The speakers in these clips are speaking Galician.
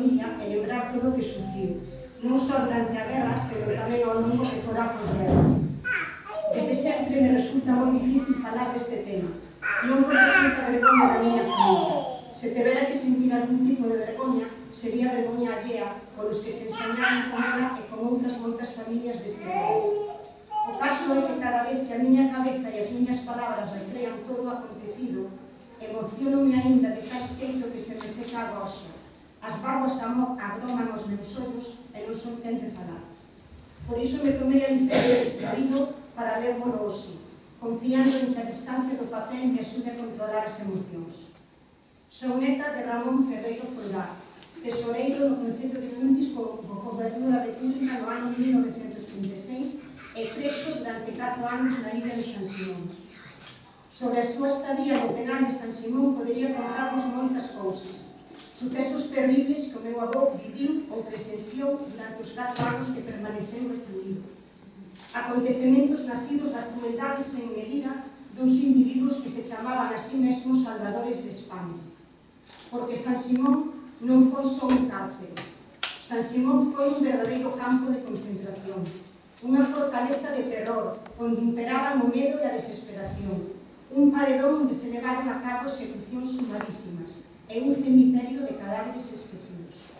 familia e lembrar todo o que sufriu, non só durante a guerra, senón tamén ao longo de toda a posguerra. Desde sempre me resulta moi difícil falar deste tema, non porque sinta vergoña da miña familia. Se tivera que sentir algún tipo de vergoña, sería vergoña allea polos que se ensañaron con ela e con outras moitas familias deste mundo. O caso é que cada vez que a miña cabeza e as miñas palabras recrean todo o acontecido, emociono-me aínda de tal xeito que se me seca a roxa. As bágoas agroman os meus ollos e non son quen de falar. Por iso me tomei a licencia de escribirlo para lermolo hoxe, confiando en que a distancia do papel me axude a controlar as emocións. Son neta de Ramón Ferreiro Folgar, tesoreiro no Concello de Cuntis co Goberno da República no ano 1936 e presos durante 4 anos na illa de San Simón. Sobre a súa estadía no penal de San Simón podería contarvos moitas cousas. Sucesos terribles que o meu avó viviu ou presenciou durante os 4 anos que permaneceu recluído. Acontecementos nacidos da crueldade sen medida duns individuos que se chamaban a sí mesmos salvadores de España. Porque San Simón non foi só un cárcere. San Simón foi un verdadeiro campo de concentración, unha fortaleza de terror, onde imperaban o medo e a desesperación, un paredón onde se levaron a cabo execucións sumarísimas e un cemiterio de cadáveres esquecidos.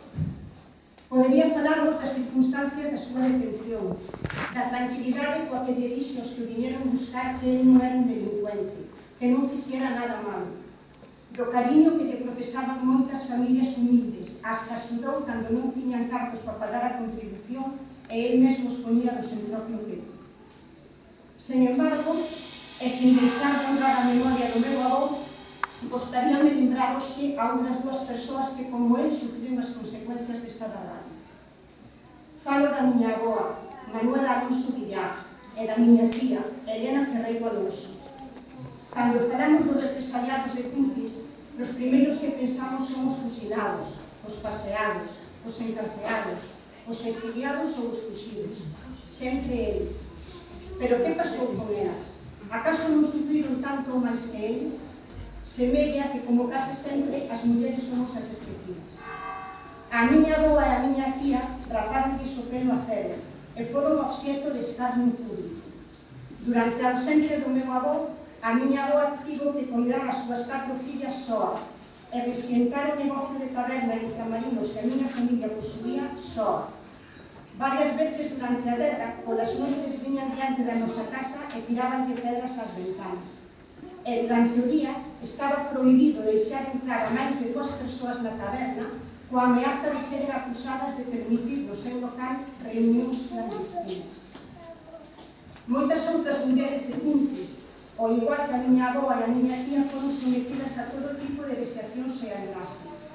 Podería falarvos das circunstancias da súa detención, da tranquilidade coa que lle dixo os que o viñeron buscar que ele non era un delincuente, que non fixera nada malo, do cariño que lle profesaban moitas familias humildes, as que axudou cando non tiñan cartos para pagar a contribución e el mesmo os ponía do seu propio peto. Sen embargo, e sen deixar de honrar a memoria do meu avó, gostaríame lembrar hoxe a outras dúas persoas que, como el, sufriron as consecuencias desta barbarie. Falo da miña avoa, Manuela Alonso Villar, e da miña tía, Elena Ferreiro Alonso. Cando falamos dos represaliados de Cuntis, os primeiros que pensamos son os fusilados, os paseados, os encarceados, os exiliados ou os fuxidos, sempre eles. Pero que pasou con elas? Acaso non sufriron tanto ou máis que eles? Semella que, como case sempre, as mulleres somos as esquecidas. A miña avoa e a miña tía raparonlles o pelo a cero e foron obxecto de escarnio público. Durante a ausencia do meu avó, a miña avoa tivo que coidar as súas 4 fillas soa e resientar o negocio de taberna en Camarinos que a miña familia posuía soa. Varias veces durante a guerra, polas noites viñan diante da nosa casa e tirabanlle pedras ás ventanas. E durante o día estaba prohibido deixar entrar a máis de 2 persoas na taberna coa ameaza de seren acusadas de permitir no seu local reunións clandestinas. Moitas outras mulleres de Cuntis, ao igual que a miña avoa e a miña tía, foron sometidas a todo tipo de vexacións e agraxes.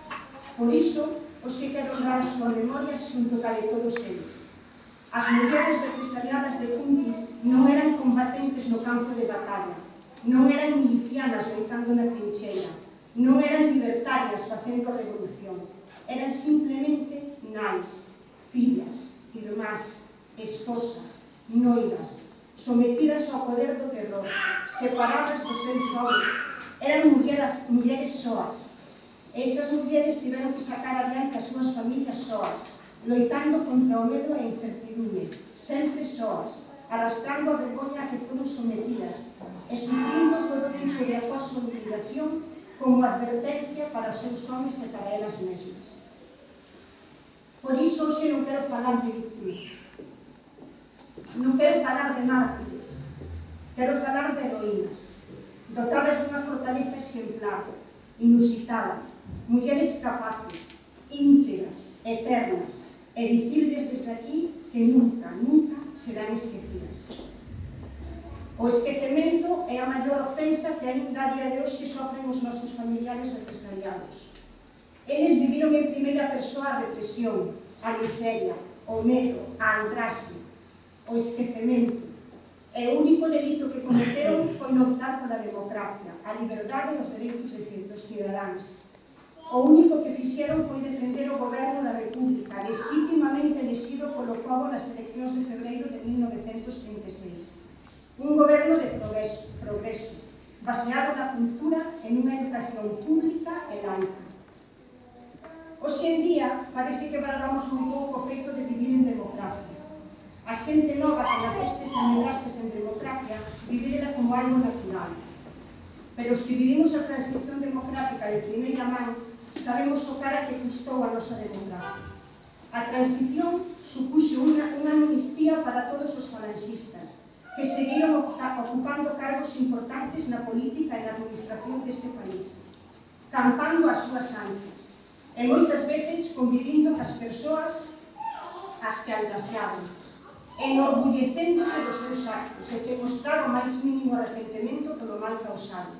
Por iso, hoxe quero honrar a súa memoria xunto ca de todos eles. As mulleres represaliadas de Cuntis non eran combatentes no campo de batalla, non eran milicianas loitando na trincheira, non eran libertarias facendo revolución, eran simplemente nais, fillas, irmás, esposas, noivas, sometidas ao poder do terror, separadas dos seus homes, eran mulleres soas. Esas mulleres tiveron que sacar adiante as súas familias soas, loitando contra o medo e a incertidumbre, sempre soas, arrastrando a vergoña a que foron sometidas e sufrindo todo tipo de acoso e humiliación como advertencia para os seus homes e para elas mesmas. Por iso, hoxe non quero falar de víctimas, non quero falar de mártires, quero falar de heroínas, dotadas dunha fortaleza exemplar, inusitada, mulleres capaces, íntegras, eternas, e dicirles desde aquí que nunca, nunca serán esquecidas. O esquecemento é a maior ofensa que aínda a día de hoxe sofren os nosos familiares represaliados. Eles viviron en primeira persoa a represión, a miseria, o medo, a aldraxe, o esquecemento. E o único delito que cometeron foi non optar pola democracia, a liberdade e os dereitos dos cidadáns. O único que fixeron foi defender o goberno da República, legítimamente elexido polo pobo nas eleccións de febreiro de 1936. Un goberno de progreso, baseado na cultura e nunha educación pública e laica. Hoxe en día parece que valoramos un pouco o feito de vivir en democracia. A xente nova que nacestes e medrastes en democracia vivídela como algo natural. Pero os que vivimos a transición democrática de primeira man sabemos o cara que custou a nosa democracia. A transición supuxo unha amnistía para todos os falanxistas que seguiron ocupando cargos importantes na política e na administración deste país, campando as súas anchas, e moitas veces convivindo cas persoas as que algasearon, enorgullecéndose dos seus actos e se mostrar o máis mínimo arrepentimento polo mal causado.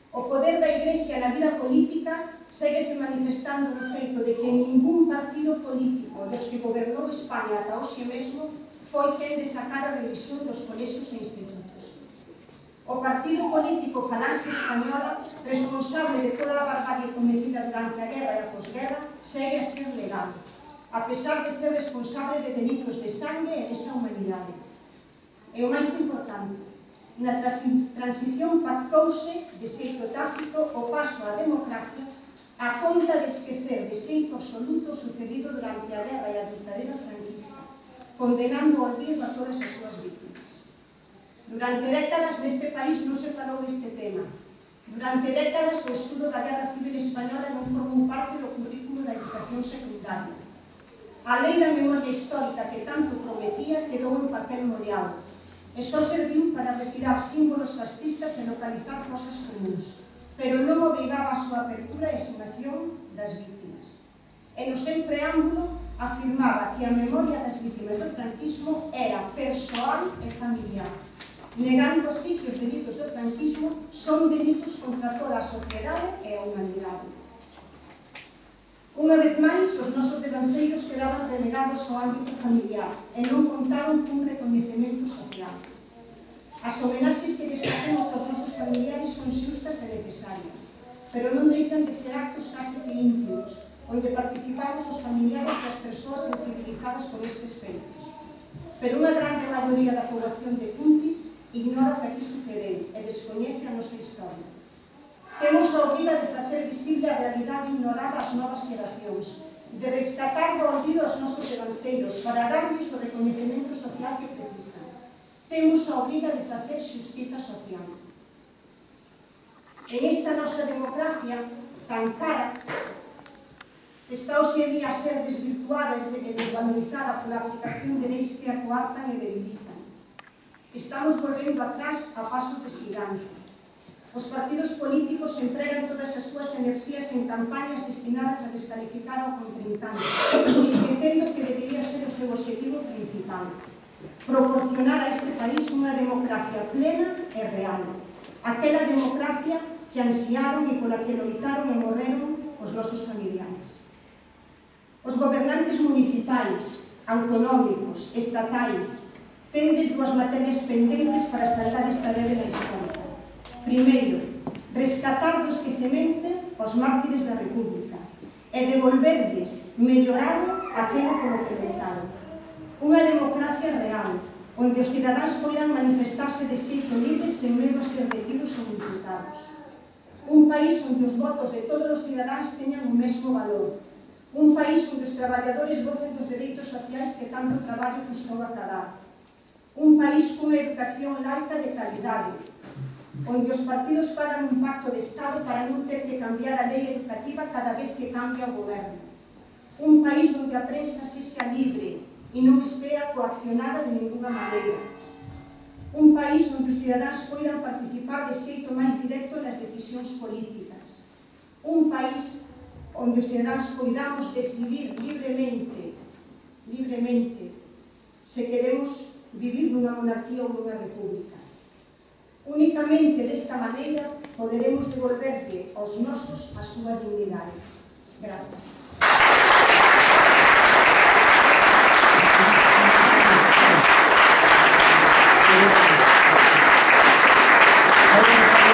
O poder da Igrexa na vida política séguese manifestando no feito de que ningún partido político dos que gobernou España ata hoxe mesmo foi quen de sacar a revisión dos colexios e institutos. O partido político Falange Española, responsable de toda a barbarie cometida durante a guerra e a posguerra, segue a ser legal, a pesar de ser responsable de delitos de sangue e lesa humanidade. E o máis importante, na transición pactouse de xeito tácito o paso á democracia a conta de esquecer de xeito absoluto o sucedido durante a guerra e a ditadura franquista, condenando ao olvido a todas as súas vítimas. Durante décadas neste país non se falou deste tema. Durante décadas o estudo da Guerra Civil Española non formou parte do currículo da educación secundaria. A lei da memoria histórica que tanto prometía quedou en papel mollado e só serviu para retirar símbolos fascistas e localizar fosas comuns, pero non obrigaba a súa apertura e exhumación das vítimas. E no seu preámbulo afirmaba que a memoria das vítimas do franquismo era persoal e familiar, negando así que os delitos do franquismo son delitos contra toda a sociedade e a humanidade. Unha vez máis, os nosos devanceiros quedaban relegados ao ámbito familiar e non contaron cun recoñecemento social. As homenaxes que lles facemos aos nosos familiares son xustas e necesarias, pero non deixan de ser actos case que íntimos, onde participamos os familiares e as persoas sensibilizadas con estes feitos. Pero unha grande maioría da poboación de Cuntis ignora o que aquí sucedeu e descoñece a nosa historia. Temos a obriga de facer visible a realidade ignorada ás novas xeracións, de rescatar do olvido aos nosos devanceiros para darlles o recoñecemento social que precisan. Temos a obriga de facer xustiza social. En esta nosa democracia tan cara, está hoxe en día a ser desvirtuada e desvalorizada pola aplicación de leis que a coartan e debilitan. Estamos volvendo atrás a pasos de xigante. Os partidos políticos empregan todas as súas enerxías en campañas destinadas a descalificar ao contrincante, esquecendo que debería ser o seu objetivo principal: proporcionar a este país unha democracia plena e real, aquela democracia que ansiaron e pola que loitaron e morreron os nosos familiares. Os gobernantes municipais, autonómicos, estatais, tendes dúas materias pendentes para saldar esta débeda histórica. Primeiro, rescatar do esquecemento os mártires da República e devolverlles mellorado aquilo polo que lutaron. Unha democracia real, onde os cidadáns poidan manifestarse de xeito libre sen medo a ser detidos ou imputados. Un país onde os votos de todos os cidadáns teñan o mesmo valor. Un país onde os traballadores gocen dos dereitos sociais que tanto traballo custou acadar. Un país cunha educación laica de calidade, onde os partidos fagan un pacto de Estado para non ter que cambiar a lei educativa cada vez que cambia o goberno. Un país onde a prensa sexa libre e non estea coaccionada de ninguna maneira. Un país onde os cidadáns poidan participar de xeito máis directo nas decisións políticas. Un país onde os cidadáns poidamos decidir libremente se queremos vivir nunha monarquía ou nunha república. Únicamente desta maneira poderemos devolverlle aos nosos a súa dignidade. Grazas.